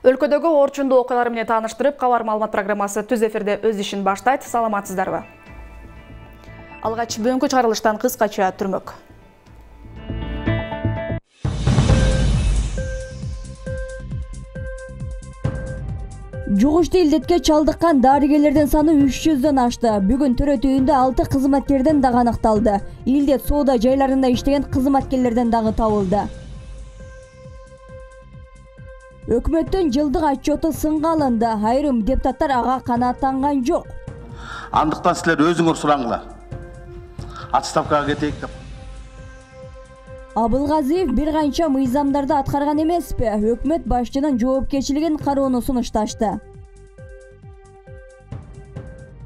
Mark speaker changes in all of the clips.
Speaker 1: Өлкөдөгү орчундуу окуялар менен тааныштырып, кабар маалымат программасы түз эфирде өз ишин баштайт. Саламатсыздарбы? Алгач бүгүнкү чыгарылыштан кыскача түрмөк.
Speaker 2: Жугуштуу илдетке чалдыккан дарыгерлердин саны 300дөн ашты. Бүгүн төрөтүйүндө 6 кызматкерден дагы аныкталды. Илдет соода жайларында иштеген кызматкерлерден дагы табылды. Өкмөттүн жылдык отчету сынга алынды. Айрым депутаттар ага канааттанган жок.
Speaker 3: Андыктан силер өзүңөр сураңлар. Отставкага кетейик деп.
Speaker 2: Абылгазиев бир канча мыйзамдарды аткарган эмеспи? Өкмөт башчынын жоопкерчилигин кароону сунушташты.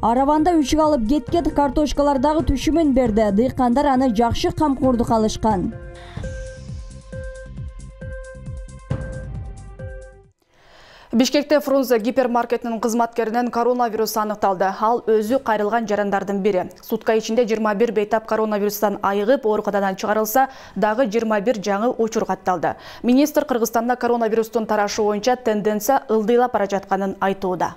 Speaker 2: Араванда үшүк алып кеткен картошкалар дагы түшүмүн берди. Дыйкандар аны жакшы камкордук алышкан.
Speaker 1: Бишкекте Фрунзе гипермаркетинин кызматкеринен коронавирус аныкталды. Ал өзү кайрылган жарандардын бири. Сутка ичинде 21 бейтап коронавирустан айыгып, ооруканадан чыгарылса, дагы 21 жаңы учур катталды. Министр Кыргызстанда коронавирустун тарашы боюнча тенденция ылдыйлап бара жатканын айтууда.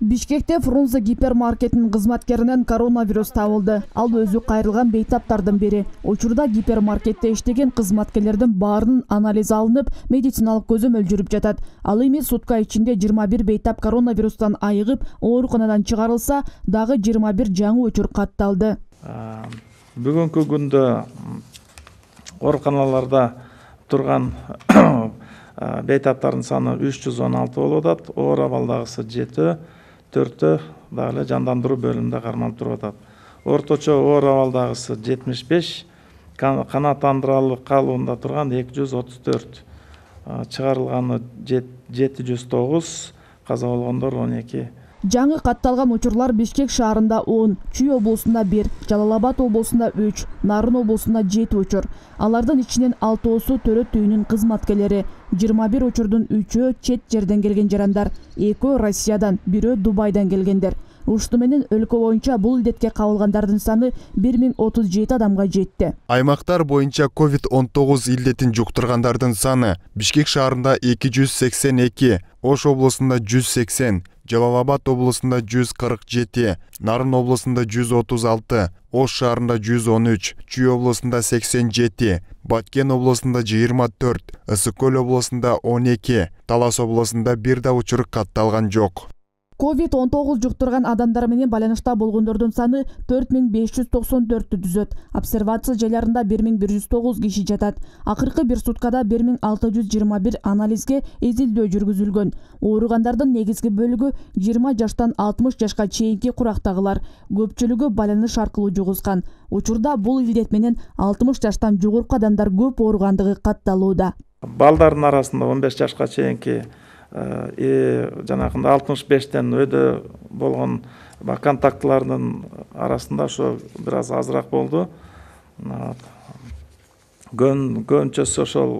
Speaker 4: Бишкекте Фрунзе гипермаркетинин кызматкеринен коронавирус табылды. Ал өзү кайрылган бейтаптардын бири. Учурда гипермаркетте иштеген кызматкерлердин баарынын анализ алынып, медициналык көзөмөл жүрүп жатат. Ал эми сутка ичинде 21 бейтап коронавирустан айыгып, ооруканадан чыгарылса, дагы 21 жаңы учур катталды.
Speaker 5: Бүгүнкү күндө ооруканаларда турган бейтаптардын саны 316 болуп атат. Оор абалдагысы 7, 4 дагы эле жандандыруу бөлүмүндө кармалып туруп атат. Орточо оор абалдагысы 75, канааттандыралып калуунда турган 234, чыгарылганы 709, каза болгондор 12.
Speaker 4: Жаңы катталган учурлар Бишкек шаарында 10, Чүй облусунда 1, Жалал-Абад облусунда 3, Нарын облусунда 7 учур. Алардын ичинен 6-оосу төрөт үйүнүн кызматкерлери, 21 учурдун 3-өө чет жерден келген жарандар, 2-өө Россиядан, 1-өө Дубайдан келгендер. Ушуну менен өлкө боюнча бул илдетке кабылгандардын саны 1037 адамга жетти.
Speaker 6: Аймактар боюнча COVID-19 илдетин жуктургандардын саны Бишкек шаарында 282, Ош облусунда 180, Жалал-Абад облусунда 147, Нарын облусунда 136, Ош шаарында 113, Чүй облусунда 87, Баткен облусунда 24, Ысык-Көл облусунда 12, Талас облусунда бир да учур катталган жок.
Speaker 4: COVID-19 жуктурган адамдар менен байланышта болгондордун саны 4594 түзөт. Обсервация жайларында 1109 киши жатат. Акыркы бир суткада 1621 анализге эзилдөө жүргүзүлгөн. Ооругандардын негизги бөлүгү 20 жаштан 60 жашка чейинки курактагылар. Көпчүлүгү байланыш аркылуу жугузган. Учурда бул илдет менен 60 жаштан жогорку адамдар көп ооругандыгы катталууда.
Speaker 5: Балдардын арасында 15 жашка чейинки жанагында 65тен өйдө болгон контактылардын арасында ошо бир аз азыраак болду. Көбүнчөсү ошол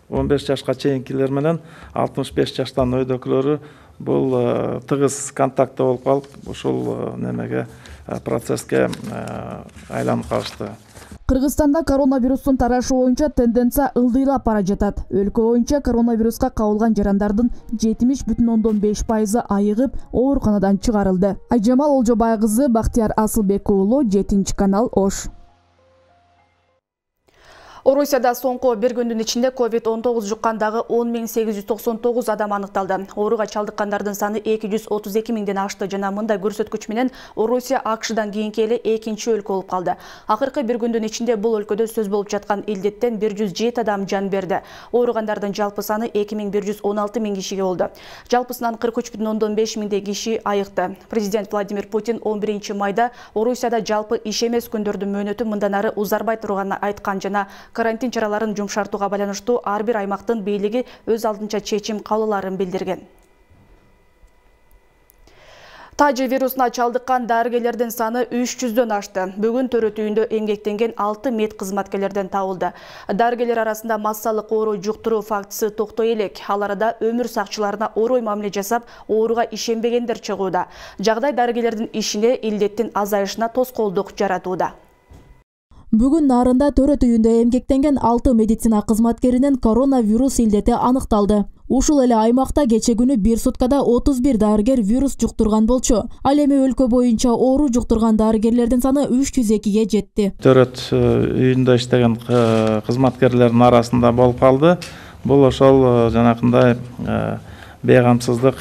Speaker 5: 15 жашка чейинкилер менен 65 жаштан өйдөкүлөрү бул тыгыз контактта болуп калып, ушул немеге процесске айланып калышты.
Speaker 4: Кыргызстанда коронавирустун тарашы боюнча тенденция ылдыйлап бара жатат. Өлкө боюнча коронавируска кабылган жарандардын 70,5% айыгып, ооруканадан чыгарылды. Айжамал Олжобай кызы, Бактияр Асылбек уулу, 7 канал, Ош.
Speaker 1: Орусияда соңку бир күндүн ичинде COVID-19 жуккандагы 10.899 адам аныкталды. Ооруга чалдыккандардын саны 232 миңден ашты жана мындай көрсөткүч менен Орусия АКШдан кийинки эле экинчи өлкө болуп калды. Акыркы бир күндүн ичинде бул өлкөдө сөз болуп жаткан илдеттен 107 адам жан берди. Ооругандардын жалпы саны 2116 миң кишиге болду. Жалпысынан 43,5 миңдей киши айыкты. Президент Владимир Путин 11 майда Орусияда жалпы иш эмес күндөрдүн мөөнөтү мындан ары узарбай турганын айткан жана карантин чараларын жумшартууга байланыштуу ар бир аймактын бийлиги өз алдынча чечим кабыл аларын билдирген. Тажи вирусуна чалдыккан дарыгерлердин саны 300дөн ашты. Бүгүн төрөтүйүндө эмгектенген 6 мед кызматкерлерден табылды. Дарыгерлер арасында массалык оору жуктуруу фактысы токтой элек. Ал арада өмүр сакчыларына орой мамиле жасап, ооруга ишенбегендер чыгууда. Жагдай дарыгерлердин ишине илдеттин азайышына тоскоолдук жаратууда.
Speaker 7: Бүгүн нарында төрөт үйүндө эмгектенген 6 медицина кызматкеринин коронавирус илдети аныкталды. Ушул эле аймакта кече күнү бир суткада 31 дарыгер вирус жуктурган болчу. Ал эми өлкө боюнча оору жуктурган дарыгерлердин саны 302ге жетти.
Speaker 5: Төрөт үйүндө иштеген кызматкерлердин арасында болуп калды. Бул ошол жанакындай бейгамсыздык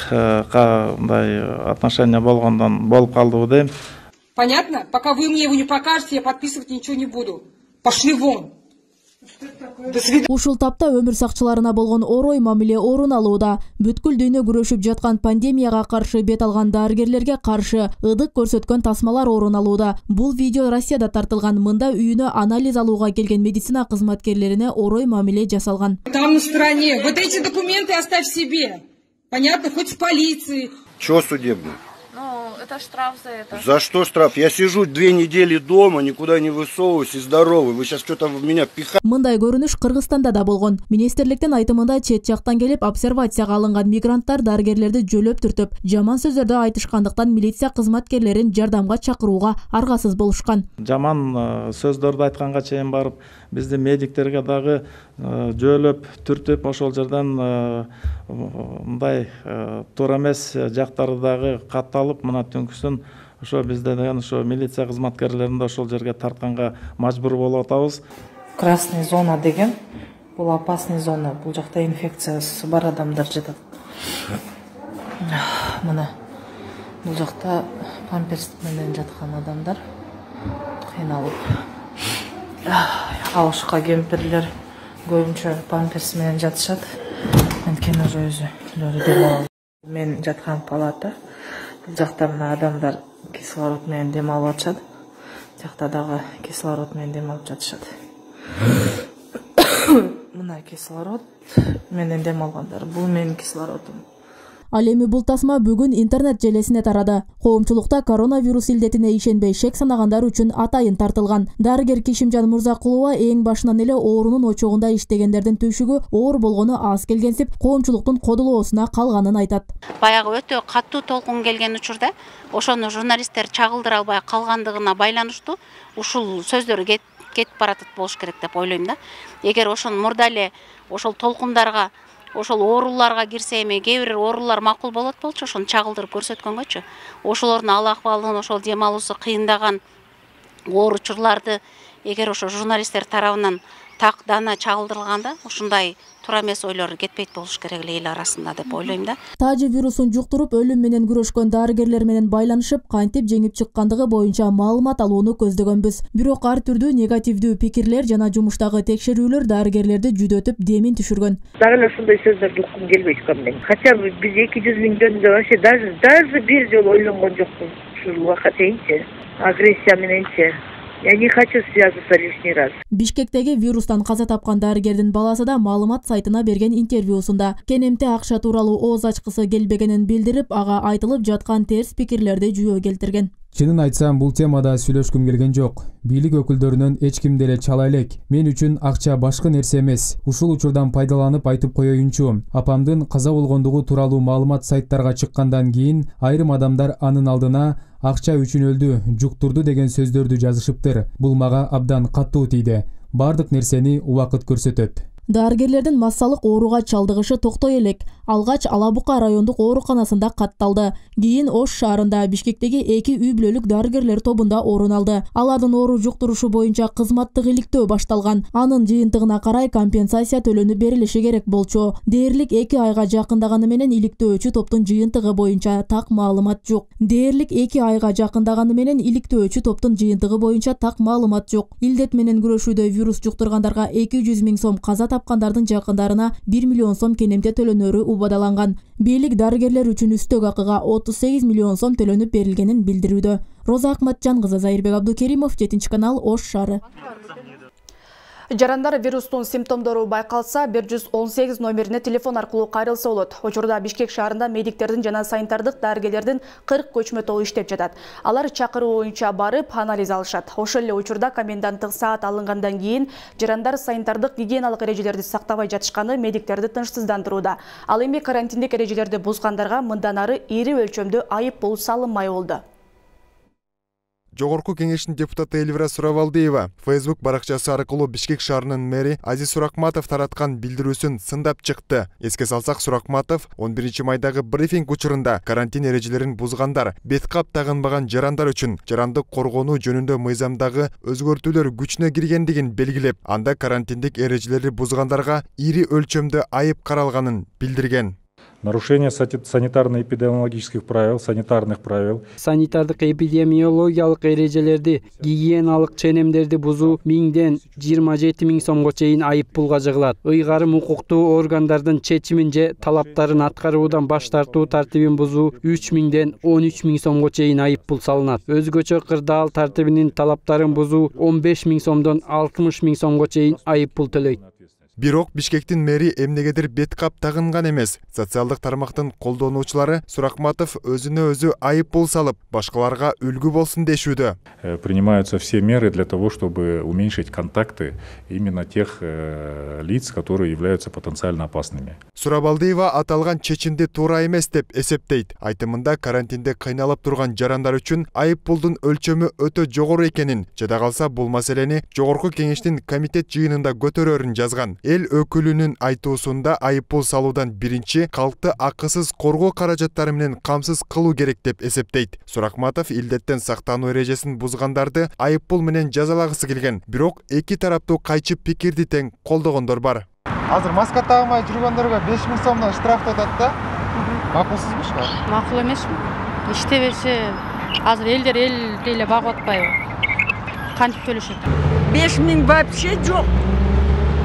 Speaker 5: кандай отношение болгондон болуп калдыбы дейм.
Speaker 8: Понятно? Пока вы мне его не покажете, я подписывать ничего не буду. Пошли вон.
Speaker 7: Ушул тапта өмүр сакчыларына болгон орой мамиле орун алууда. Бүткүл дүйнө күрөшүп жаткан пандемияга каршы бет алган дарыгерлерге каршы ыдык көрсөткөн тасмалар орун алууда. Бул видео Россияда тартылган. Мында үйүнө анализ алууга келген медицина кызматкерлерине орой мамиле жасалган.
Speaker 8: Там на стороне. Вот эти документы оставь себе. Понятно? Хоть в полиции.
Speaker 9: Чего судебный?
Speaker 10: Ну, это штраф за это.
Speaker 9: За что штраф? Я сижу 2 недели дома, никуда не высовываюсь и здоровый. Вы сейчас что-то в меня пихаете.
Speaker 7: Мындай көрүнүш Кыргызстанда да болгон. Министрликтин айтымында чет жактан келип обсервацияга алынган мигранттар дарыгерлерди жөлөп түртүп, жаман сөздөрдү айтышкандыктан милиция кызматкерлерин жардамга чакырууга аргасыз болушкан.
Speaker 5: Жаман сөздөрдү айтканга чейин барып, бизди медиктерге дагы жөлөп түртүп, ошол жерден мындай туура эмес жактары дагы катталып, мына түнкүсүн ошо бизде деген ошо милиция кызматкерлерин да ошол жерге тартканга мажбур болуп атабыз.
Speaker 10: Красный зона деген, бул опасный зона. Бул жакта инфекциясы бар адамдар жатат. Мына бул жакта памперс менен жаткан адамдар кыйналып. Алышка кемпирлер көбүнчө памперс менен жатышат. Анткени уже өзүлөрү демалып. Мен жаткан палата. Бул жакта мына адамдар кислород менен дем алып атышат. Жакта дагы кислород менен дем алып жатышат. Мына кислород менен дем алгандар. Бул менин кислородум.
Speaker 7: Ал эми бул тасма бүгүн интернет желесине тарады. Коомчулукта коронавирус илдетине ишенбей шек санагандар үчүн атайын тартылган. Дарыгер Кишимжан Мурзакулова эң башынан эле оорунун очогунда иштегендердин түйшүгү оор болгону аз келгенсип, коомчулуктун кодулоосуна калганын айтат.
Speaker 11: Баягы өтө катуу толкун келген учурда ошону журналисттер чагылдыра албай калгандыгына байланыштуу ушул сөздөр кетип баратат болуш керек деп ойлойм да. Эгер ошону мурда эле ошол толкундарга ошол ооруларга кирсе эми кээ бир оорулар макул болот болчу, ошону чагылдырып көрсөткөнгөчү. Ошолордун ал акыбалын, ошол дем алуусу кыйындаган оор учурларды эгер ошо журналисттер тарабынан такдана чагылдырылганда, ушундай туура эмес ойлор кетпейт болуш керек эле эл арасында деп ойлойм да.
Speaker 7: Тажи вирусун жуктуруп өлүм менен күрөшкөн дарыгерлер менен байланышып, кантип жеңип чыккандыгы боюнча маалымат алууну көздөгөнбүз. Бирок ар түрдүү негативдүү пикирлер жана жумуштагы текшерүүлөр дарыгерлерди жүдөтүп демин түшүргөн.
Speaker 12: Дагы эле ушундай сөздөрдү уккум келбейт экен. Хотя бы биз 200 000 жөнүндө вообще даже бир жолу ойлонгон жокмун. Ушул убакка чейинчи агрессия мененчи. Я не хочу связываться лишний раз.
Speaker 7: Бишкектеги вирустан каза тапкан дарыгердин баласы да маалымат сайтына берген интервьюсунда кенемте акча тууралуу ооз ачкысы келбегенин билдирип, ага айтылып жаткан терс пикирлерди жүйө келтирген.
Speaker 13: Чынын айтсам, бул темада сүйлөшкүм келген жок. Бийлик өкүлдөрүнөн эч ким деле чала элек. Мен үчүн акча башкы нерсе эмес. Ушул учурдан пайдаланып айтып коеюнчу. Апамдын каза болгондугу тууралуу маалымат сайттарга чыккандан кийин айрым адамдар анын алдына акча үчүн өлдү, жуктурду деген сөздөрдү жазышыптыр. Бул мага абдан каттуу тийди. Бардык нерсени убакыт көрсөтөт.
Speaker 7: Дарыгерлердин массалык ооруга чалдыгышы токтой элек. Алгач Ала Бука райондук ооруканасында катталды. Кийин Ош шаарында Бишкектеги 2 үй бүлөлүк дарыгерлер тобунда орун алды. Алардын оору жуктурушу боюнча кызматтык иликтөө башталган. Анын жыйынтыгына карай компенсация төлөнүп берилиши керек болчу. Дээрлик 2 айга жакындаганы менен иликтөөчү топтун жыйынтыгы боюнча так маалымат жок. Илдет менен күрөшүүдө вирус жуктургандарга 200 000 сом, каза тапкандардын жакындарына 1 миллион сом кенемте төлөнөрү убадаланган. Бийлик дарыгерлер үчүн үстөк акыга 38 миллион сом төлөнүп берилгенин билдирүүдө. Роза Акматжан кызы, Зайырбек Абдукеримов, 7 канал, Ош шаары.
Speaker 1: Жарандар вирустун симптомдору байкалса, 118 номерине телефон аркылуу кайрылса болот. Учурда Бишкек шаарында медиктердин жана санитардык дарыгерлердин 40 көчмө тобу иштеп жатат. Алар чакыруу боюнча барып анализ алышат. Ошол эле учурда коменданттык саат алынгандан кийин жарандар санитардык гигиеналык эрежелерди сактабай жатышканы медиктерди тынчсыздандырууда. Ал эми карантиндик эрежелерди бузгандарга мындан ары ири өлчөмдүү айып пул салынмай болду.
Speaker 6: Жогорку кеңештин депутаты Эльвира Сурабалдиева Facebook баракчасы аркылуу Бишкек шаарынын мэри Азиз Суракматов тараткан билдирүүсүн сындап чыкты. Эске салсак, Суракматов 11 майдагы брифинг учурунда карантин эрежелерин бузгандар, бет кап тагынбаган жарандар үчүн жарандык коргонуу жөнүндө мыйзамдагы өзгөртүүлөр күчүнө киргендигин белгилеп, анда карантиндик эрежелерди бузгандарга ири өлчөмдө айып каралганын билдирген.
Speaker 14: Нарушение санитарно-эпидемиологических правил, санитарных правил.
Speaker 15: Санитардык эпидемиологиялык эрежелерди, гигиеналык ченемдерди бузуу 1000ден 27 000 сомго чейин айып пулга жыгылат. Ыйгарым укуктуу органдардын чечимин же талаптарын аткаруудан баш тартуу тартибин бузуу 3000ден 13 000 сомго чейин айып пул салынат. Өзгөчө кырдаал тартибинин талаптарын бузуу 15 000 сомдон 60 000 сомго чейин айып пул төлөйт.
Speaker 6: Бирок Бишкектин мэри эмнегедир бет кап тагынган эмес. Социалдык тармактын колдонуучулары Суракматов өзүнө өзү айып пул салып, башкаларга үлгү болсун дешүүдө.
Speaker 14: Принимаются все меры для того, чтобы уменьшить контакты именно тех лиц, которые являются потенциально опасными.
Speaker 6: Сурабалдиева аталган чечимди туура эмес деп эсептейт. Айтымында карантинде кыйналып турган жарандар үчүн айып пулдун өлчөмү өтө жогору экенин, жада калса бул маселени жогорку кеңештин комитет жыйынында көтөрөрүн жазган. Эл өкүлүнүн айтуусунда айып пул салуудан биринчи калкты акысыз коргоо каражаттары менен камсыз кылуу керек деп эсептейт. Суракматов илдеттен сактануу эрежесин бузгандарды айып пул менен жазалагысы келген. Бирок эки тараптуу кайчы пикирди тең колдогондор бар.
Speaker 16: Азыр маска тагмай жүргөндөргө 5000 сомдон штраф атат да. Макулсузбу ушул?
Speaker 17: Макул эмесми? Иштебесе азыр элдер эле багып атпайбы? Кантип төлөшөт?
Speaker 18: 5000 вообще жок.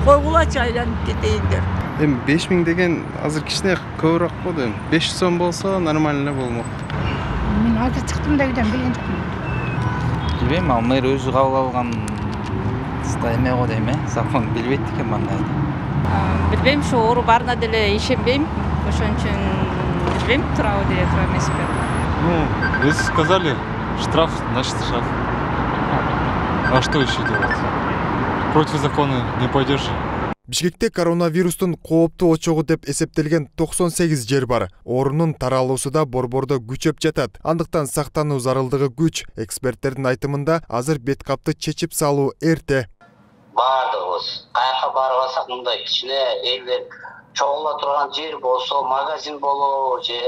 Speaker 18: Койгулачы айланып кетейиндер.
Speaker 16: Эми 5000 деген азыр кичине көбүрөөк болду. 500 сом болсо нормально болмок.
Speaker 17: Мен азыр чыктым да үйдөн билген жокмун.
Speaker 19: Билбейм, ал мэр өзү кабыл алган эме го дейм, закон билбейт экен мындайды.
Speaker 17: Билбейм, ошо оору барына деле ишенбейм. Ошон үчүн билбейм, туурабы же туура эмеспи.
Speaker 20: Ну, вы сказали, штраф, значит штраф. А что еще делать? Против закона не пойдешь.
Speaker 6: Бишкекте коронавирустун кооптуу очогу деп эсептелген 98 жер бар. Оорунун таралуусу да борбордо күчөп жатат. Андыктан сактануу зарылдыгы күч. Эксперттердин айтымында азыр бет капты чечип салуу эрте.
Speaker 21: Бардыгыбыз каяка барбасак мындай кичине элдер чогула турган жер болсо, магазин болобу же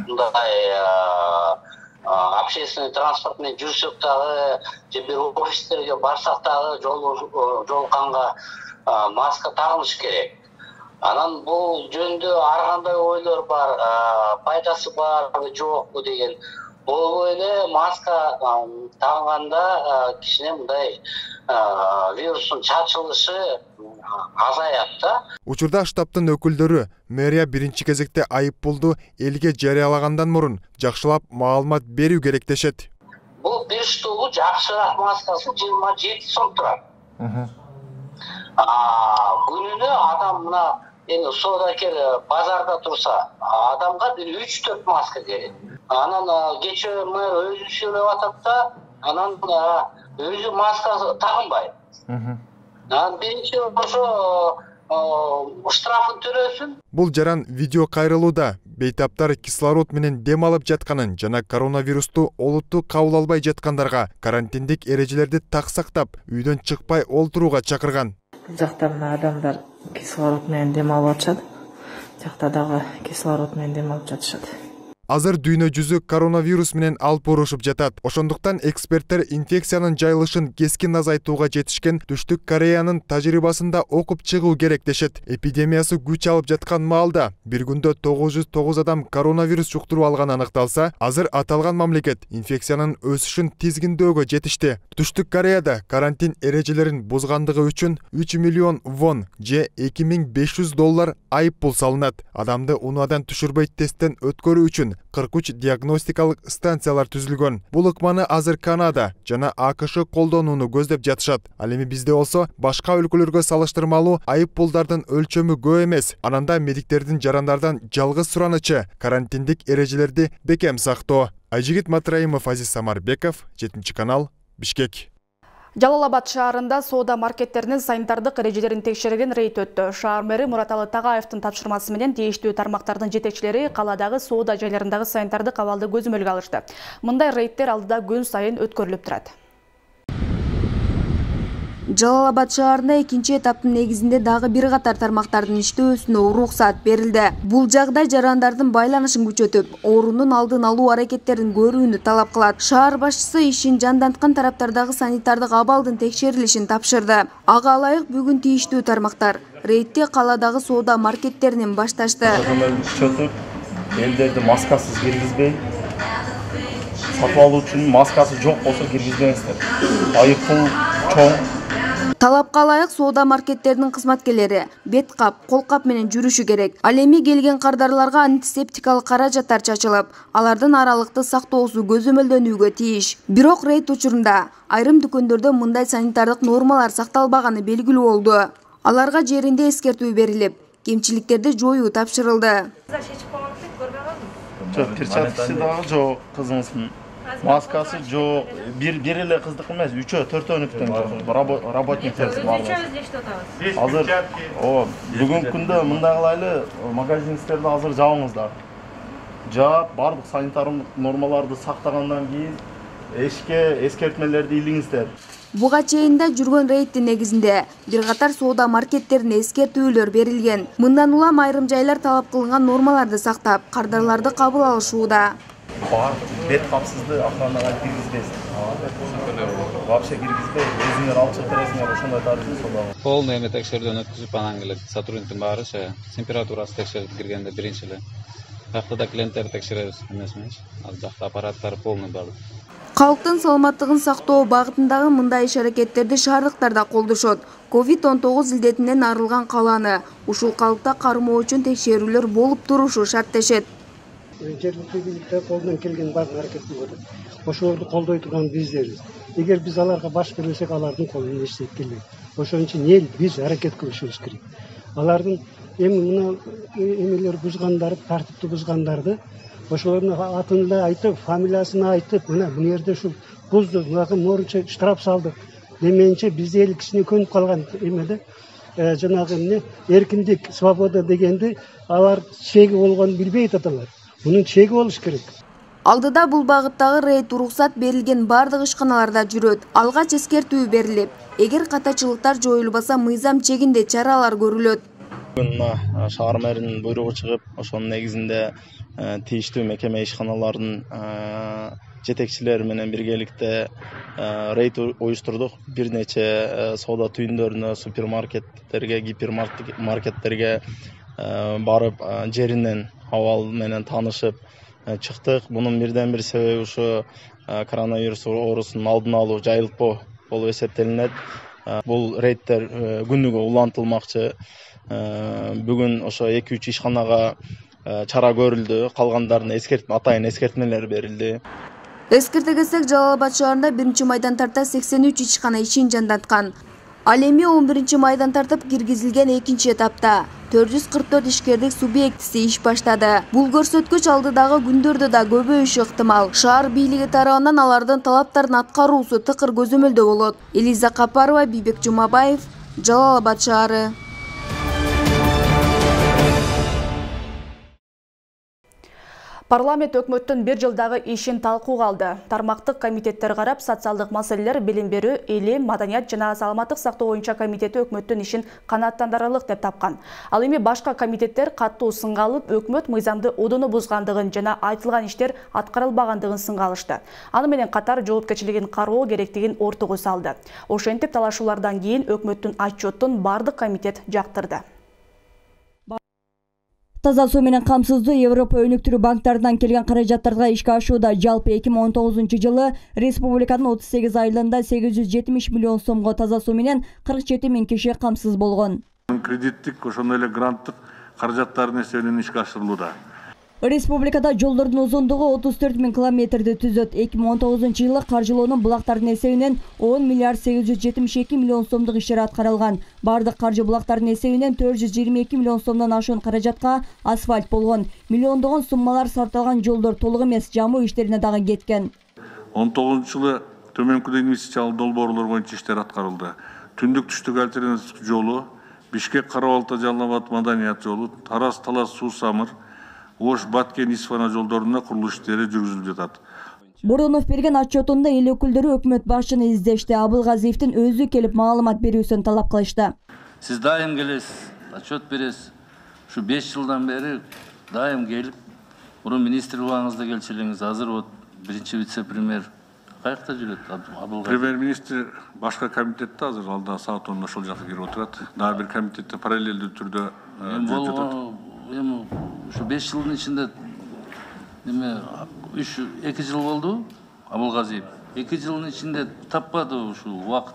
Speaker 21: мындай общественный транспорт менен жүрсөк дагы же бир офистерге барсак дагы жолукканга маска тагыныш керек. Анан бул жөнүндө ар кандай ойлор бар, пайдасы барбы жокпу деген. Бул эле маска тагганда кичине мындай вирустун чачылышы азаят да.
Speaker 6: Учурда штабтын өкүлдөрү мэрия биринчи кезекте айып пулду элге жарыялагандан мурун жакшылап маалымат берүү керек дешет.
Speaker 21: Бул бир штулу жакшыраак маскасы 27 сом турат. Күнүнө адам мына эми соодакер базарда турса, адамга бир 3-4 маска керек. Анан кечээ мэр өзү сүйлөп атат да, анан өзү маска тагынбайт. Биринчи ошо штрафын төлөсүн.
Speaker 6: Бул жаран видео кайрылууда бейтаптар кислород менен дем алып жатканын жана коронавирусту олуттуу кабыл албай жаткандарга карантиндик эрежелерди так сактап, үйдөн чыкпай олтурууга чакырган.
Speaker 10: Бул жакта мына адамдар кислород менен дем алып атышат. Жакта дагы кислород менен дем алып жатышат.
Speaker 6: Азыр дүйнө жүзү коронавирус менен алып урушуп жатат. Ошондуктан эксперттер инфекциянын жайылышын кескин азайтууга жетишкен Түштүк Кореянын тажрыйбасында окуп чыгуу керек дешет. Эпидемиясы күч алып жаткан маалда бир күндө 909 адам коронавирус жуктуруп алган аныкталса, азыр аталган мамлекет инфекциянын өсүшүн тизгиндөөгө жетишти. Түштүк Кореяда карантин эрежелерин бузгандыгы үчүн 3 миллион вон же $2500 айып пул салынат. Адамды унаадан түшүрбөй тесттен өткөрүү үчүн 43 диагностикалык станциялар түзүлгөн. Бул ыкманы азыр Канада жана АКШ колдонууну көздөп жатышат. Ал эми бизде болсо башка өлкөлөргө салыштырмалуу айып пулдардын өлчөмү көп эмес. Ананда медиктердин жарандардан жалгыз суранычы карантиндик эрежелерди бекем сактоо. Айжигит Матраимов, Азиз Самарбеков, 7 канал, Бишкек.
Speaker 1: Жалал Абад шаарында соода маркеттеринин санитардык эрежелерин текшерген рейд өттү. Шаар мэри Мураталы Тагаевдин тапшырмасы менен тийиштүү тармактардын жетекчилери каладагы соода жайларындагы санитардык абалды көзөмөлгө алышты. Мындай рейдтер алдыда күн сайын өткөрүлүп турат.
Speaker 3: Жалал Абад шаарында экинчи этаптын негизинде дагы бир катар тармактардын иштөөсүнө уруксат берилди. Бул жагдай жарандардын байланышын күчөтүп, оорунун алдын алуу аракеттерин көрүүнү талап кылат. Шаар башчысы ишин жанданткан тараптардагы санитардык абалдын текшерилишин тапшырды. Ага ылайык бүгүн тийиштүү тармактар рейдти каладагы соода маркеттеринен башташты.
Speaker 22: Күчөтүп, элдерди маскасыз киргизбей, сатып алуучунун маскасы жок болсо киргизбеңиздер. Айыппул чоң.
Speaker 3: Талапка ылайык соода маркеттеринин кызматкерлери бет кап, кол кап менен жүрүшү керек. Ал эми келген кардарларга антисептикалык каражаттар чачылып, алардын аралыкты сактоосу көзөмөлдөнүүгө тийиш. Бирок рейд учурунда айрым дүкөндөрдө мындай санитардык нормалар сакталбаганы белгилүү болду. Аларга жеринде эскертүү берилип, кемчиликтерди жоюу тапшырылды.
Speaker 22: Перчаткасы дагы жок, кызыңыздын. Маскасы жок, бир эле кыздык эмес, 3-4-өнүктөн работниктер бар. Азыр бүгүнкү күндө мындай кылайлы, магазиниңиздерди азыр жабыңыздар. Жаап, бардык санитардык нормаларды сактагандан кийин эшикке эскертмелерди илиңиздер.
Speaker 3: Буга чейин да жүргөн рейдтин негизинде бир катар соода маркеттерине эскертүүлөр берилген. Мындан улам айрым жайлар талап кылынган нормаларды сактап, кардарларды кабыл алышууда.
Speaker 22: Бет капсызды охранага киргизбейсиз. Вообще киргизбей, өзүңөр алып чыгып бересиңер, ошондой тарыхты содагы.
Speaker 19: Полный эме текшерүүдөн өткүзүп, анан келип сотрудниктин баары температурасы текшерип киргенде биринчи эле. Бакта да клиенттерди текшеребиз эмесминчи. Ал жакта аппараттар полный бар.
Speaker 3: Калктын саламаттыгын сактоо багытындагы мындай иш-аракеттерди шаардыктар да колдошот. COVID-19 илдетинен арылган каланы ушул калыпта кармоо үчүн текшерүүлөр болуп турушу шарттешет.
Speaker 23: Жергиликтүү бийликтер колдон келген баарын аракет кылып атат. Ошолорду колдой турган биздербиз. Эгер биз аларга баш бербесек, алардын колунан эч нерсе келбейт. Ошон үчүн эл биз аракет кылышыбыз керек. Алардын эми мына эмелер бузгандарды, тартипти бузгандарды ошолордун атын эле айтып, фамилиясын айтып, мына бул жерде ушул бузду, мынакы моорунча штраф салдык деменче бизде эл кичине көнүп калган эмеде жанагы эмне эркиндик, свобода дегенди алар чеги болгонун билбей аталар. Bunun çeki болуш керек.
Speaker 3: Алдыда бул багыттагы рейд уруксат берилген бардык ишканаларда жүрөт. Алгач эскертүү берилип, эгер катачылыктар жоюлбаса мыйзам чегинде чаралар көрүлөт.
Speaker 22: Бүгүн шаар мэринин буйругу чыгып, ошонун негизинде тийиштүү мекеме ишканалардын жетекчилери менен биргеликте рейд уюштурдук. Бир нече соода түйүндөрүнө, супермаркеттерге, гипермаркеттерге барып жеринен абал менен таанышып чыктык. Бунун бирден бир себеби ушу коронавирус оорусунун алдын алуу, жайылтпоо болуп эсептелинет. Бул рейдтер күнүгө улантылмакчы. Бүгүн ошо 2-3 ишканага чара көрүлдү. Калгандарына атайын эскертмелер берилди.
Speaker 3: Эскерте кетсек, Жалал Абад шаарында 1-майдан тарта 83 ишкана ишин жанданткан. Ал эми 11-майдан тартып киргизилген экинчи этапта 444 ишкердик субъектиси иш баштады. Бул көрсөткүч алдыдагы күндөрдө да көбөйүшү ыктымал. Шаар бийлиги тарабынан алардын талаптарын аткаруусу тыкыр көзөмөлдө болот. Элиза Капарова, Бийбек Жумабаев, Жалал Абад шаары.
Speaker 1: Парламент өкмөттүн бир жылдагы ишин талкууга алды. Тармактык комитеттер карап, социалдык маселелер, билим берүү, элим, маданият жана саламаттык сактоо боюнча комитети өкмөттүн ишин канааттандырарлык деп тапкан. Ал эми башка комитеттер каттуу сынга алып, өкмөт мыйзамды одоно бузгандыгын жана айтылган иштер аткарылбагандыгын сынга алышты. Аны менен катар жоопкерчилигин кароо керектигин ортого салды. Ошентип талашуулардан кийин өкмөттүн отчетун бардык комитет жактырды.
Speaker 2: Таза суу менен камсыздоо Европа өнүктүрүү банктарынан келген каражаттарга ишке ашууда. Жалпы 2019 жылы республиканын 38 айылында 870 миллион сомго таза суу менен 47 000 киши камсыз болгон.
Speaker 24: Кредиттик ошондой эле гранттык каражаттардын эсебинен ишке ашырылууда.
Speaker 2: Республикада жолдордун узундугу 34 000 километрди түзөт. 2019 жылы каржылоонун булактардын эсебинен 10 миллиард 872 миллион сомдук иштер аткарылган. Бардык каржы булактардын эсебинен 422 миллион сомдон ашуун каражатка асфальт болгон. Миллиондогон суммалар сарпталган жолдор толук эмес, жамуу иштерине дагы кеткен.
Speaker 24: 19 жылы төмөнкүдө инвестициялык долбоорлор боюнча иштер аткарылды. Түндүк түштүк альтернатив жолу, Бишкек Кара-Балта Жалал Абад Маданият жолу, Тараз-Талас Суу-Самыр, Ош Баткен-Исфана жолдорунда курулуш иштери жүргүзүлүп жатат.
Speaker 2: Бурунов берген отчетунда эл өкүлдөрү өкмөт башчыны издешти. Абылгазиевдин өзү келип маалымат берүүсүн талап кылышты.
Speaker 4: Сиз дайым келесиз, отчет бересиз. Ушу 5 жылдан бери дайым келип, мурун министр убагыңызда келчү элеңиз, азыр вот биринчи вице-премьер каякта жүрөт? Абылгазиев. Премьер-министр
Speaker 24: башка комитетте азыр алда саат 10 ошол жака кирип отурат. Дагы бир комитетте параллелдүү түрдө жүрүп жатат.
Speaker 4: Эми ушу 5 жылдын ичинде эме 2 жыл болду Абылгазиев. 2 жылдын ичинде таппады ушул убакыт.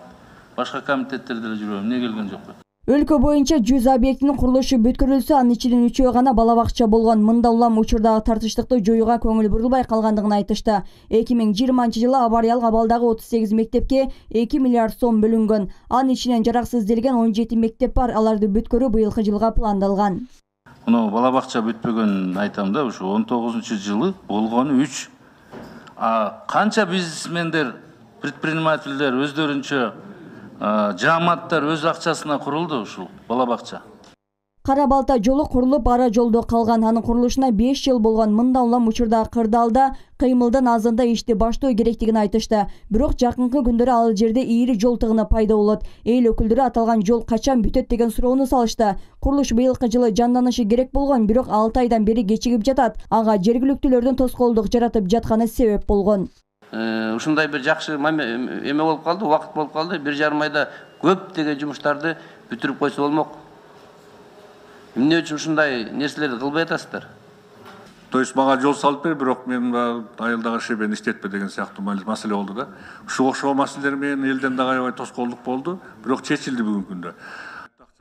Speaker 4: Башка комитеттерде эле жүрөм, эмне келген жок?
Speaker 2: Өлкө боюнча 100 объектинин курулушу бүткөрүлсө, анын ичинен 3-өө гана бала бакча болгон. Мында улам учурдагы тартыштыкты жоюуга көңүл бурулбай калгандыгын айтышты. 2020 жылы авариялык абалдагы 38 мектепке 2 миллиард сом бөлүнгөн. Анын ичинен жараксызделген 17 мектеп бар. Аларды бүткөрүү быйылкы жылга пландалган.
Speaker 4: Мына бала бакча бүтпөгөнүн айтам да, ушу 19-жылы болгону 3. Канча бизнесмендер, предпринимательдер өздөрүнчө жааматтар өз акчасына курулду ушул бала бакча.
Speaker 2: Кара-Балта жолу курулуп, ара жолдо калган. Анын курулушуна 5 жыл болгон. Мында улам учурдагы кырдаалда кыймылдын азында ишти баштоо керектигин айтышты. Бирок жакынкы күндөрү ал жерде ийри жол тыгыны пайда болот. Эл өкүлдөрү аталган жол качан бүтөт деген суроону салышты. Курулуш быйылкы жылы жанданышы керек болгон, бирок 6 айдан бери кечигип жатат. Ага жергиликтүүлөрдүн тоскоолдук жаратып жатканы себеп болгон.
Speaker 5: Ушундай бир жакшы эме болуп калды, убакыт болуп калды. 1,5 айда көптөгөн жумуштарды бүтүрүп койсо болмок. Эмне үчүн ушундай нерселерди кылбай атасыздар?
Speaker 24: То есть мага жол салып бер, бирок мен айылдагы шебени иштетпе деген сыяктуу маселе болду да. Ушуга окшогон маселелер менен элден дагы аябай тоскоолдук болду, бирок чечилди бүгүнкү күндө.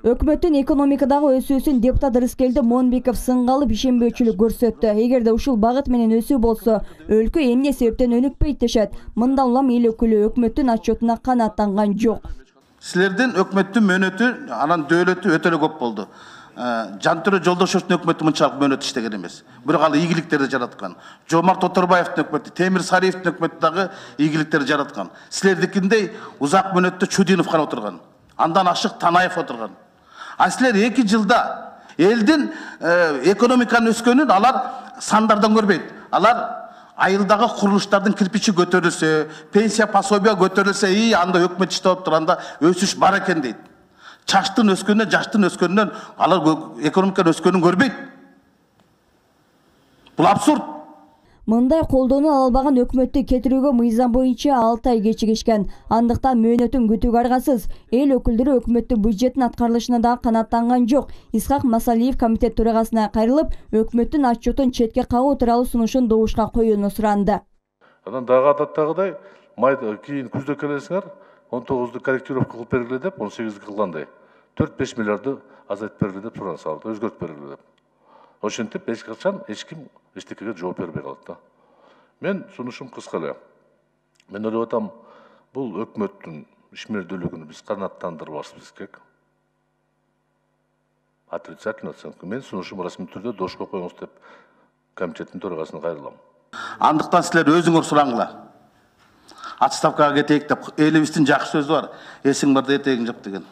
Speaker 2: Өкмөттүн экономикадагы өсүүсүн депутат Рыскелди Монбеков сыңгалып ишенбөөчүлүк көрсөттү. Эгерде ушул багыт менен өсүү болсо, өлкө эмне себептен өнүкпөйт дешет. Мында улам эл өкүлү өкмөттүн отчетуна канааттанган жок.
Speaker 8: Силердин өкмөттүн мөөнөтү, анан дөөлөтү өтө эле көп болду. Жантөрө Жолдошевдин өкмөтү мынчалык мөөнөт иштеген эмес. Бирок ал ийгиликтерди жараткан. Жомарт Оторбаевдин өкмөтү, Темир Сариевдин өкмөтү дагы ийгиликтерди жараткан. Силердикиндей узак мөөнөттө Чудинов гана отурган. Андан ашык Танаев отурган. А силер 2 жылда элдин экономиканын өскөнүн алар сандардан көрбөйт. Алар айылдагы курулуштардын кирпичи көтөрүлсө, пенсия пособия көтөрүлсө, анда өкмөт иштеп турганда өсүш бар экен дейт. Чаштын өскөнүнөн, жаштын өскөнүнөн алар экономиканын өскөнүн көрбөйт. Бул абсурд.
Speaker 2: Мындай колдоону ала албаган өкмөттү кетирүүгө мыйзам боюнча 6 ай кечигишкен. Андыктан мөөнөтүн күтүүгө аргасыз. Эл өкүлдөрү өкмөттүн бюджеттин аткарылышына да канааттанган жок. Исхак Масалиев комитет төрагасына кайрылып, өкмөттүн отчетун четке кагуу тууралуу сунушун добушка коюуну суранды.
Speaker 9: Анан дагы адаттагыдай кийин күздө келесиңер, 19-ду корректировка кылып бергиле деп, 18 кылгандай 4-5 миллиарды азайтып бергиле деп суран салды, өзгөртүп бергиле деп. Ошентип эч качан эч ким эчтекеге жооп бербей калат да. Мен сунушум кыска эле. Мен ойлоп атам, бул өкмөттүн ишмердүүлүгүн биз канааттандырбашыбыз керек. Отрицательно оценка. Мен сунушум расмий түрдө дошко коюңуз деп комитеттин төрагасына кайрылам.
Speaker 8: Андыктан силер өзүңөр сураңыла. Отставкага кетейик деп элибиздин жакшы сөзү бар. Эсиң барда этегиң жап деген.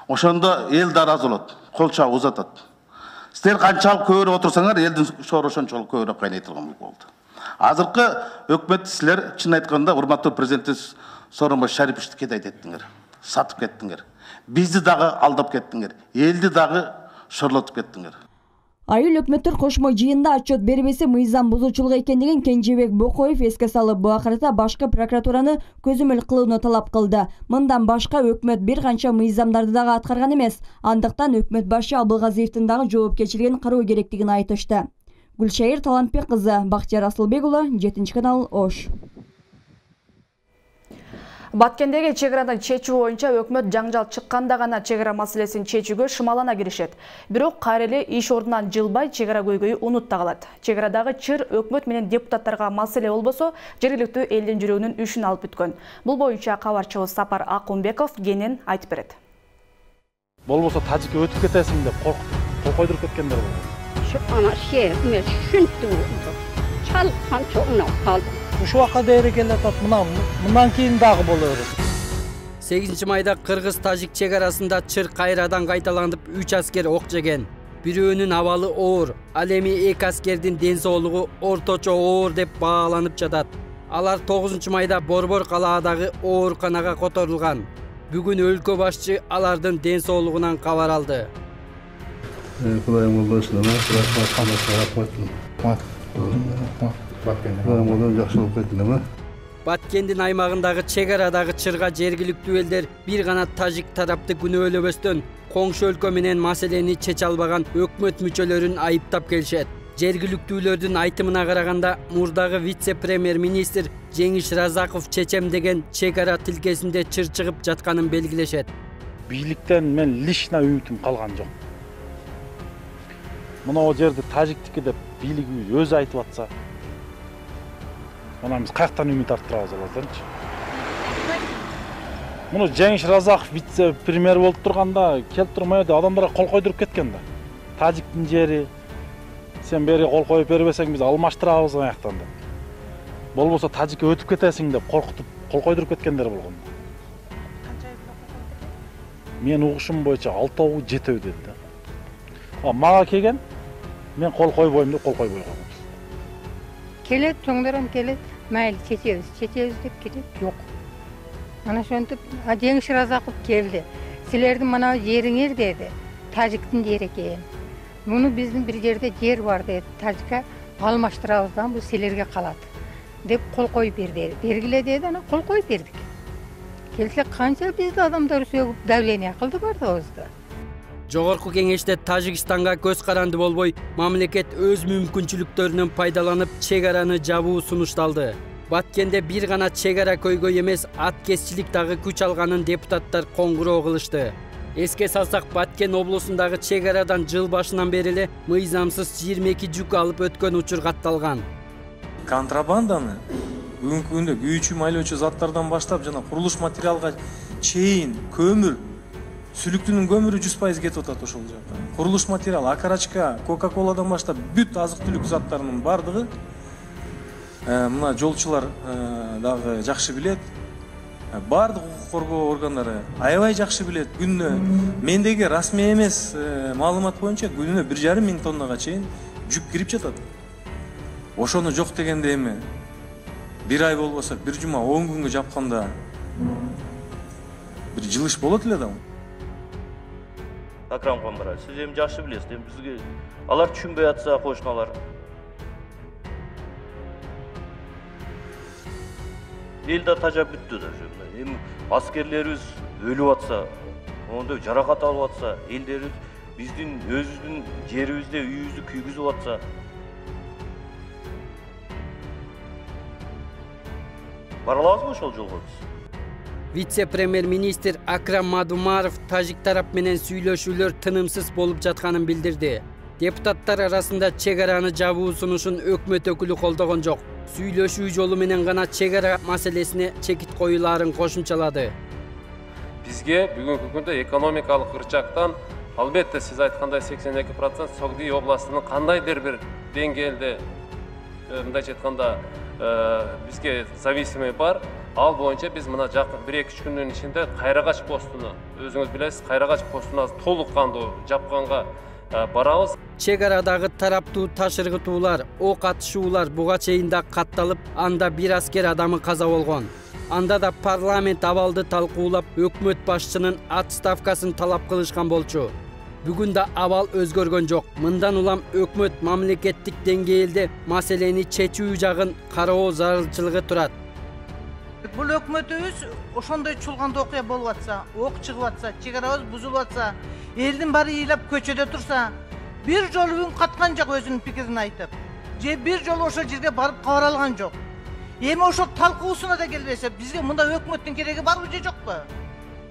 Speaker 8: Ошондо эл да ыраазы болот. Кол чабып узатат. Силер канчалык көбүрөөк отурсаңар, элдин шоору ошончолук көбүрөөк кайнай турган болду. Азыркы өкмөт силер чын айтканда урматтуу президентибиз Сооронбай Шариповичти кетейт еттиңер. Сатып кеттиңер. Бизди дагы алдап кеттиңер. Элди дагы шорлотуп кеттиңер.
Speaker 2: Айыл өкмөттөр кошмо жыйында отчет бербесе мыйзам бузуучулук экендигин Кенжебек Бокоев эске салып, бул акырата башкы прокуратураны көзөмөл кылууну талап кылды. Мындан башка өкмөт бир канча мыйзамдарды дагы аткарган эмес. Андыктан өкмөт башы Абылгазиевдин дагы жоопкерчилигин кароо керектигин айтышты. Гүлшайыр Талантбек кызы, Бактияр Асылбек уулу, 7-канал, Ош.
Speaker 1: Баткендеги чегарадан чечүү боюнча өкмөт жаңжал чыкканда гана чегара маселесин чечүүгө шымалана киришет. Бирок кайра эле иш ордунан жылбай чегара көйгөйү унутта калат. Чегарадагы чыр өкмөт менен депутаттарга маселе болбосо, жергиликтүү элдин жүрөгүнүн үшүн алып бүткөн. Бул боюнча кабарчыбыз Сапар Акунбеков кенен айтып берет.
Speaker 25: Болбосо тажикке өтүп кетесиң деп кол койдуруп кеткендер бар.
Speaker 18: Ана шер мен шүнтү чалкан чоңнап калдым.
Speaker 25: Ушул убакка дээри келатат, мындан кийин дагы боло берет.
Speaker 7: 8 майда Кыргыз-Тажик чек арасында чыр кайрадан кайталанып 3 аскер ок жеген. Бирөөнүн абалы оор, ал эми 2 аскердин ден соолугу орточо оор деп бааланып жатат. Алар 9 майда Борбор калаадагы ооруканага которулган. Бүгүн өлкө башчы алардын ден соолугунан кабар алды.
Speaker 11: Кудайым болбосын, жакшылык кетилеби?
Speaker 7: Баткендин аймагындагы чек арадагы чырга жергиликтүү элдер бир гана тажик тарапты күнөөлөбөстөн коңшу өлкө менен маселени чече албаган өкмөт мүчөлөрүн айыптап келишет. Жергиликтүүлөрдүн айтымына караганда, мурдагы вице-премьер-министр Жеңиш Разаков чечемдеген чек ара тилкесинде чыр чыгып жатканын белгилешет.
Speaker 25: Бийликтен мен лично үмүтүм калган жок. Мына жерде тажиктики деп бийлигибиз өзү айтып атса, мына биз каяктан үмүт арттырабыз алардырчы? Муну Жеңиш Разаков вице-премьер болуп турганда келип турмай адамдарга кол койдуруп кеткен да. Тажиктин жери сен бери кол коюп бербесең биз алмаштырабыз аяктан деп. Болбосо тажикке өтүп кетесиң деп коркутуп кол койдуруп кеткендер болгон. Мен угушум боюнча 6-7 деди да. Мага келген, мен кол койбойм деп кол койбой койгом.
Speaker 12: Келет, чоңдором келет, майли чечебиз деп келет, жок. Mana şöntüp, Жеңиш Разаков келди. Силердин мына жериңер деди, тажиктин жери экен. Муну биздин бир жерде жер бар деди, тажикка алмаштырабыздан бул силерге калат деп кол коюп берди. Бергиле деди, ана кол коюп бердик. Келсе канча бизди адамдар сөгүп давление кылды бардыгыбызды.
Speaker 7: Жогорку кеңеште Тажикстанга көз каранды болбой, мамлекет өз мүмкүнчүлүктөрүнөн пайдаланып чек араны жабуу сунушталды. Баткенде бир гана чек ара көйгөй эмес, аткезчилик дагы күч алганын депутаттар коңгуроо кылышты. Эске салсак, Баткен облусундагы чек арадан жыл башынан бери эле мыйзамсыз 22 жүк алып өткөн учур катталган.
Speaker 13: Контрабанданы бүгүнкү күндө күйүүчү майлоочу заттардан баштап жана курулуш материалга чейин көмүр, сүлүктүнүн көмүрү 100% кетип атат ошол жакка. Курулуш материал, акарачка, кока-коладан баштап бүт азык-түлүк заттарынын бардыгы мына жолчулар дагы жакшы билет. Бардык укук коргоо органдары аябай жакшы билет. Күнүнө мендеги расмий эмес маалымат боюнча күнүнө 1,5 миң тоннага чейин жүк кирип жатат. Ошону жок дегенде эми бир ай болбосо, бир жума 10 күнгө жапканда бир жылыш болот эле да.
Speaker 15: Акрам Камбара, сиз эми жакшы билесиз, эми бизге алар түшүнбөй атса кошуналар. Эл да тажап бүттү да. Эми аскерлерибиз өлүп атса, ондой жаракат алып атса, элдерибиз биздин өзүбүздүн жерибизде үйүбүздү күйгүзүп атса, бара алабызбы ошол жолго биз?
Speaker 7: Вице-премьер-министр Акрам Мадумаров тажик тарап менен сүйлөшүүлөр тынымсыз болуп жатканын билдирди. Депутаттар арасында чек араны жабуу сунушун өкмөт өкүлү колдогон жок. Сүйлөшүү жолу менен гана чек ара маселесине чекит коюлаарын кошумчалады.
Speaker 26: Бизге бүгүнкү күндө экономикалык ырчактан албетте сиз айткандай 82% Согди областынын кандайдыр бир деңгээлде мындайча айтканда бизге зависимый бар. Ал боюнча биз мына жакын 1-2 күндүн ичинде Кайрагач постуну, өзүңүз билесиз, Кайрагач постуна толук кандуу жапканга барабыз.
Speaker 7: Чек арадагы тараптуу ташыргытуулар, ок атышуулар буга чейин да катталып, анда бир аскер адамы каза болгон. Анда да парламент абалды талкуулап, өкмөт башчынын отставкасын талап кылышкан болчу. Бүгүн да абал өзгөргөн жок. Мындан улам өкмөт мамлекеттик деңгээлде маселени чечүү жагын кароо зарылчылыгы турат.
Speaker 27: Бул өкмөтүбүз ошондой чулганда окуя болуп атса, ок чыгып атса, чек арабыз бузулуп атса, элдин баары ыйлап көчөдө турса, бир жолу үн каткан жок өзүнүн пикирин айтып. Же бир жолу ошол жерге барып кабар алган жок. Эми ошол талкуусуна да келбесе, бизге мында өкмөттүн кереги барбы же жокпу?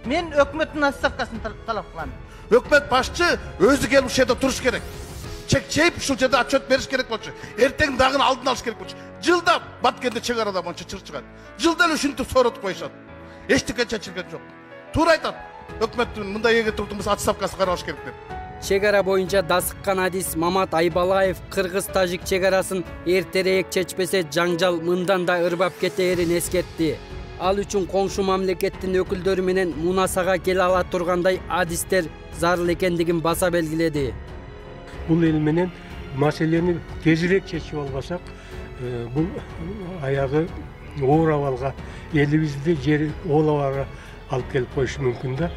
Speaker 27: Мен өкмөттүн отставкасын талап кылам.
Speaker 8: Өкмөт башчы өзү келип ушул жерде туруш керек. Чек чейип ушул жерде отчет бериш керек болчу. Эртең дагы алдын алыш керек болчу. Жылда Баткенде чек арада монча чыр чыгат. Жылда эле ушинтип сооротуп коюшат. Эчтеке чечилген жок. Туура айтат. Өкмөттүн мындай эге турдумуз отставкасы каралыш керек деп.
Speaker 7: Чек ара боюнча дасыккан адис Мамат Айбалаев кыргыз-тажик чек арасын эртерээк чечпесе жаңжал мындан да ырбап кетээрин эскертти. Ал үчүн коңшу мамлекеттин өкүлдөрү менен мунасага келе ала тургандай адистер зарыл экендигин баса белгиледи.
Speaker 6: Бул эл менен маселени тезирээк чечип албасак, бул аягы оор абалга, элибизди жери оолабага алып келип коюшу мүмкүн да.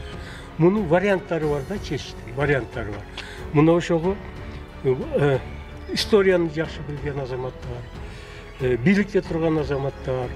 Speaker 6: Мунун варианттары бар да, чечиштин варианттары бар. Мына ошого историяны жакшы билген азаматтар, бийликте турган азаматтар,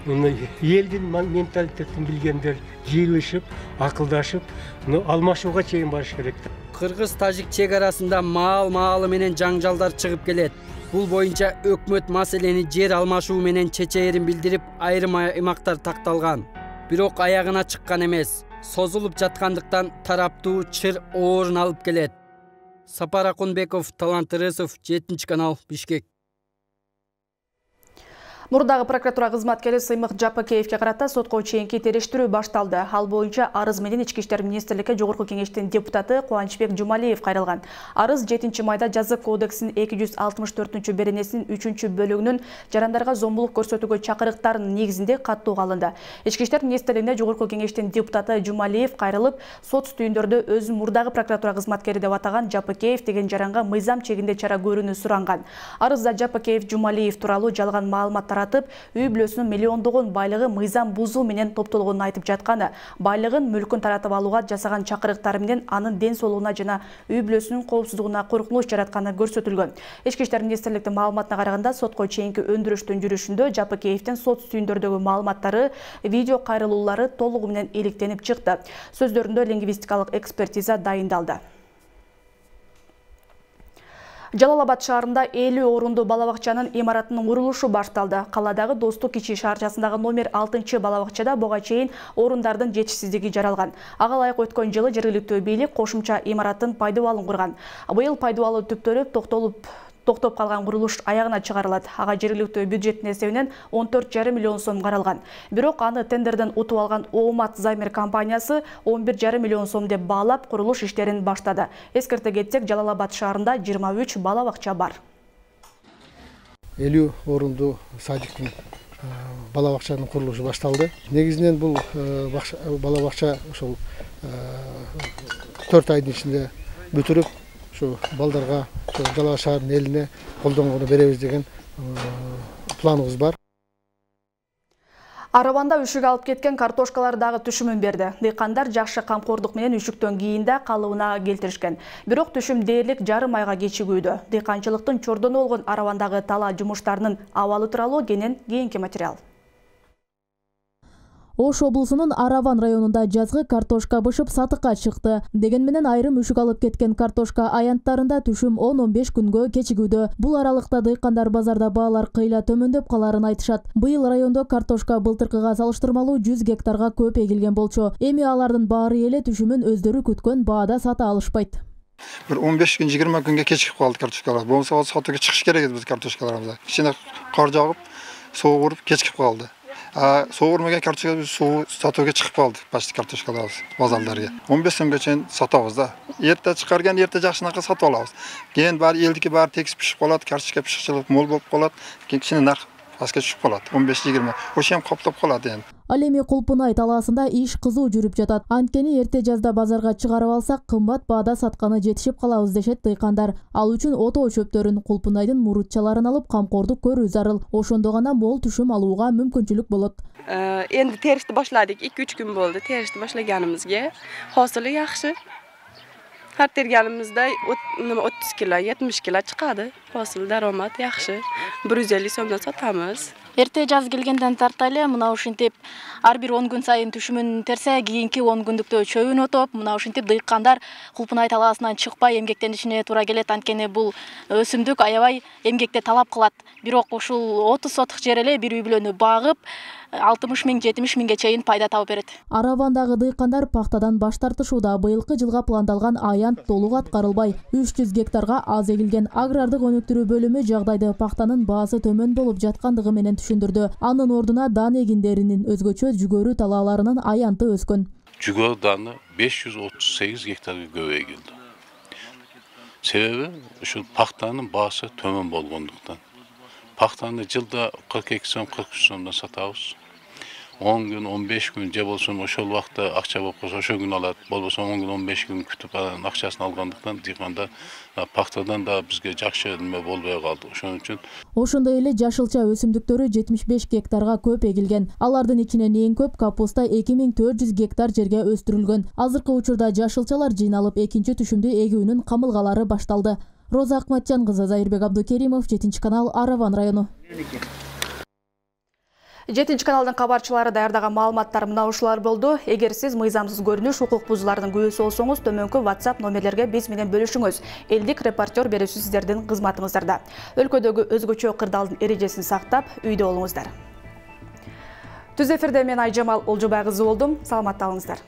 Speaker 6: элдин менталитетин билгендер жыйылышып, акылдашып, алмашууга чейин барыш керек.
Speaker 7: Кыргыз-тажик чек арасында маал-маалы менен жаңжалдар чыгып келет. Бул боюнча өкмөт маселени жер алмашуу менен чечээрин билдирип, айрым аймактар такталган. Бирок аягына чыккан эмес. Созулуп жаткандыктан тараптуу чыр оорун алып келет. Сапар Акунбеков, Талант Ырысов, 7-канал, Бишкек.
Speaker 1: Мурдагы прокуратура кызматкери Сыймык Жапакеевке карата сотко чейинки териштирүү башталды. Ал боюнча арыз менен Ички иштер министрликке Жогорку кеңештин депутаты Кубанычбек Жумалиев кайрылган. Арыз 7 майда Жазык кодексинин 264-беренесинин 3-бөлүгүнүн жарандарга зомбулук көрсөтүүгө чакырыктарынын негизинде каттууга алынды. Ички иштер министрлигине Жогорку кеңештин депутаты Жумалиев кайрылып, сот стүйүндөрдө өзүн мурдагы прокуратура кызматкери деп атаган Жапакеев деген жаранга мыйзам чегинде чара көрүүнү суранган. Арызда Жапакеев Жумалиев тууралуу жалган маалыматтар үй бүлөсүнүн миллиондогон байлыгы мыйзам бузуу менен топтолгонун айтып жатканы, байлыгын, мүлкүн таратып алууга жасаган чакырыктары менен анын ден соолугуна жана үй бүлөсүнүн коопсуздугуна коркунуч жаратканы көрсөтүлгөн. Ички иштер министрликтин маалыматына караганда, сотко чейинки өндүрүштүн жүрүшүндө Жапакеевдин сот стүйүндөрдөгү маалыматтары, видео кайрылуулары толугу менен иликтенип чыкты. Сөздөрүндө лингвистикалык экспертиза дайындалды. Жалал-Абад шаарында 50 орунду балабакчанын имаратынын курулушу башталды. Каладагы Достук ичи шаарчасындагы номер 6-балабакчада буга чейин орундардын жетишсиздиги жаралган. Ага ылайык өткөн жылы жергиликтүү бийлик кошумча имараттын пайдубалын курган. Быйыл пайдубалы түптөлүп, токтоп калган курулуш аягына чыгарылат. Ага жергиликтүү бюджеттин эсебинен 14,5 миллион сом каралган. Бирок аны тендерден утуп алган Оомат Займер компаниясы 11,5 миллион сом деп баалап курулуш иштерин баштады. Эскерте кетсек, Жалал-Абад шаарында 23 балабакча бар.
Speaker 11: 50 орунду садиктин балабакчанын курулушу башталды. Негизинен бул балабакча ошол 4 айдын ичинде бүтүрүп, балдарга Жалал шаарынын элине колдонгону беребиз деген планыбыз бар.
Speaker 1: Араванда үшүк алып кеткен картошкалар дагы түшүмүн берди. Дыйкандар жакшы камкордук менен үшүктөн кийин да калыбына келтиришкен. Бирок түшүм дээрлик жарым айга кечигүүдө. Дыйканчылыктын чордону болгон Аравандагы талаа жумуштарынын абалы тууралуу кийинки материал.
Speaker 10: Ош облусунун Араван районунда жазгы картошка бышып сатыкка чыкты. Деген менен айрым үшүк алып кеткен картошка аянттарында түшүм 10-15 күнгө кечигүүдө. Бул аралыкта дыйкандар базарда баалар кыйла төмөндөп каларын айтышат. Быйыл райондо картошка былтыркыга салыштырмалуу 100 гектарга көп эгилген болчу. Эми алардын баары эле түшүмүн өздөрү күткөн баада сата алышпайт.
Speaker 14: Bir 15 gün 20 günge keçip kaldı kartoşkalar. Bu mesela satıya çıkış gerekiyor biz kartoşkalarımıza. İçine kar jağıp, soğuk vurup keçip kaldı. Soğurmagan kartoşka suv satuga chiqib qoldi. Pastki kartoshkalar bozorlarga. 15 so'mga chayin sotamiz da. Erta chiqargan erta yaxshinaqa sotib olamiz. Keyin bari eldiki bari tekis pishib qoladi, kartoshka pishiqchilik mo'l bo'lib qoladi. Keyin kichkina narx pastga tushib qoladi. 15-20. O'sha ham qoplab qoladi endi.
Speaker 10: Ал эми Кулпунай талаасында иш кызуу жүрүп жатат. Анткени эрте жазда базарга чыгарып алсак, кымбат баада сатканы жетишип калабыз дешет дыйкандар. Ал үчүн отоо чөптөрүн, Кулпунайдын мурутчаларын алып камкордук көрүү зарыл. Ошондо гана мол түшүм алууга мүмкүнчүлүк болот.
Speaker 16: Энди теришти башладык. 2-3 күн болду теришти башлаганыбызга. Хосылы жакшы. Har terganimizda 30 kilo, 70 kilo chiqadi. Hosil daromad yaxshi. 150 so'mdan sotamiz.
Speaker 10: Эрте жаз келгенден тартайлы мына ушинтип ар бир 10 күн сайын түшүмүн терсе, кийинки 10 күндүктө чөбүн отоп, мына ушинтип дыйкандар Кулпунай талаасынан чыкпай эмгектенишине туура келет. Анткени бул өсүмдүк аябай эмгекте талап кылат. Бирок ушул 30 сотук жер эле бир үй бүлөнү багып 60 миң, 70 миңге чейин пайда табып берет. Аравандагы дыйкандар пахтадан баш тартышууда. Быйылкы жылга пландалган аянт толук аткарылбай. 300 гектарга аз эгилген. Агрардык өнүктүрүү бөлүмү жагдайды пахтанын баасы төмөн болуп жаткандыгы менен түшүндүрдү. Анын ордуна дан эгиндеринин өзгөчө жүгөрү талааларынын аянты өскөн.
Speaker 17: Жүгөрү даны 538 гектарга көп эгилди.
Speaker 3: Себеби ушул пахтанын баасы төмөн болгондуктан. Пахтаны жылда 42 сом, 43 сомдон сатабыз. 10 күн, 15 күн же болсо ошол убакта акча болуп калса ошол күн алат, болбосо 10 күн, 15 күн күтүп анан акчасын алгандыктан дыйканда пахтадан да бизге жакшы неме болбой калды. Ошон үчүн
Speaker 17: ошондой эле жашылча өсүмдүктөрү 75 гектарга көп эгилген. Алардын ичинен эң көп капуста 2400 гектар жерге өстүрүлгөн. Азыркы учурда жашылчалар жыйналып, экинчи түшүмдү эгүүнүн камылгалары башталды. Роза Акматжан кызы, Зайырбек Абдукеримов, 7 канал, Араван району.
Speaker 1: 7 каналдын кабарчылары даярдаган маалыматтар мына ушулар болду. Эгер сиз мыйзамсыз көрүнүш, укук бузуулардын күбөсү болсоңуз, төмөнкү WhatsApp номерлерге биз менен бөлүшүңүз. Элдик репортер берүүсү сиздердин кызматыңыздарда. Өлкөдөгү өзгөчө кырдаалдын эрежесин сактап, үйдө болуңуздар. Түз эфирде мен Айжамал Олжобай кызы болдум. Саламатта болуңуздар.